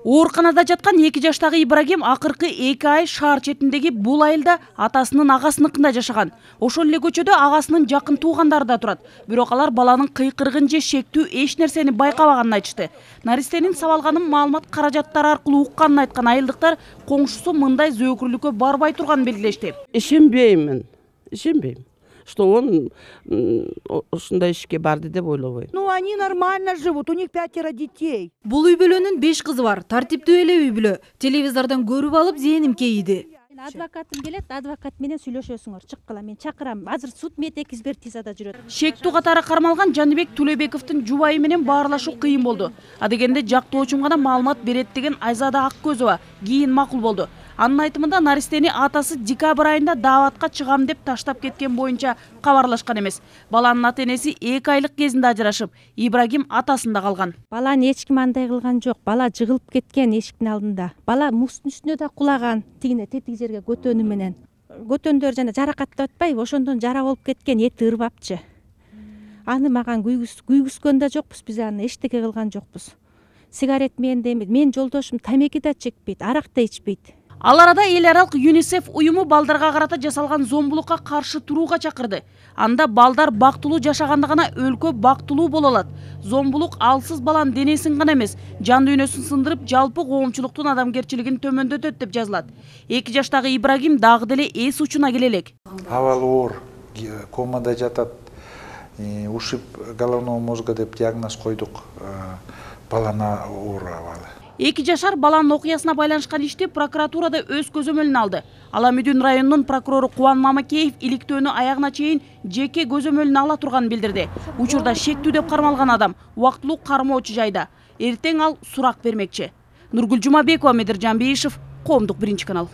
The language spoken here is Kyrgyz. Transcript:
Ооруканада жаткан 2 жаштагы Ибрагим акыркы 2 ай шаар четиндеги бул айылда атасынын агасыныкында жашаган. Ошол эле көчөдө агасынын жакын туугандары да турат. Бирок алар баланын кыйкырыгын же шектүү эч нерсени байкабаганын айтышты. Наристенин сабалганын маалымат каражаттары аркылуу укканын айткан айылдыктар коңшусу мындай зөөкүрлүккө барбай турганын белгилешти. Ишенбейм. Что он ушундай ишке барды деп ойлобойм. Ну, они нормально живут, у них 5 детей. Бул үй бүлөнүн 5 кызы бар. Тартиптүү эле үй бүлө. Телевизордон көрүп алып зээним кейиди. Адвокатым келет, адвокат менен сүйлөшөсүңөр, чыккыла, мен чакырам. Азыр суд мед экспертизада жүрөт. Шектүү катары кармалган Жаныбек Тулебековдун жубайы менен баарлашуу кыйын болду. Адегенде жактоочум гана маалымат берет деген Айзада Аккөзова кийин макул болду. Анын айтымында Наристени атасы декабрь айында дааватка чыгам деп таштап кеткен боюнча кабарлашкан эмес. Баланын ата-энеси 2 айлык кезинде ажырашып, Ибрагим атасында калган. Баланы эч ким андай кылган жок. Бала жыгылып кеткен эшиктин алдында. Бала муздун үстүнө да кулаган, тигине тетик жерге көтөнү менен. Көтөндөр жана жаракаттап атпайбы, ошондон жара болуп кеткен, эти ырбапчы. Аны маган күйгүскөн да жокпуз, биз аны эчтеке кылган жокпуз. Сигарет менде эмес, мен жолдошум тамеки да чекпейт, арак да ичпейт. Ал арада эл аралык ЮНИСЕФ уюму балдарга карата жасалган зомбулукка каршы турууга чакырды. Анда балдар бактылуу жашаганда гана өлкө бактылуу боло алат. Зомбулук алсыз баланын денесин гана эмес, жан дүйнөсүн сындырып, жалпы коомчулуктун адамгерчилигин төмөндөтөт деп жазылат. 2 жаштагы Ибрагим дагы деле эс учуна келе элек. Абалы оор, комада жатат, ушиб головного мозга деп диагноз койдук. Балана оор абалы. 2 жашар баланын окуясына байланышкан ишти прокуратурада өз көзөмөлүнө алды. Ала Мүдүн районунун прокурору Кубан Мамакеев иликтөөнү аягына чейин жеке көзөмөлүнө ала турганын билдирди. Учурда шектүү деп кармалган адам убактылуу кармоочу жайда. Эртең ал сурак бермекчи. Нургүл Жумабекова, Медиржан Бейишев, Коомдук 1 канал.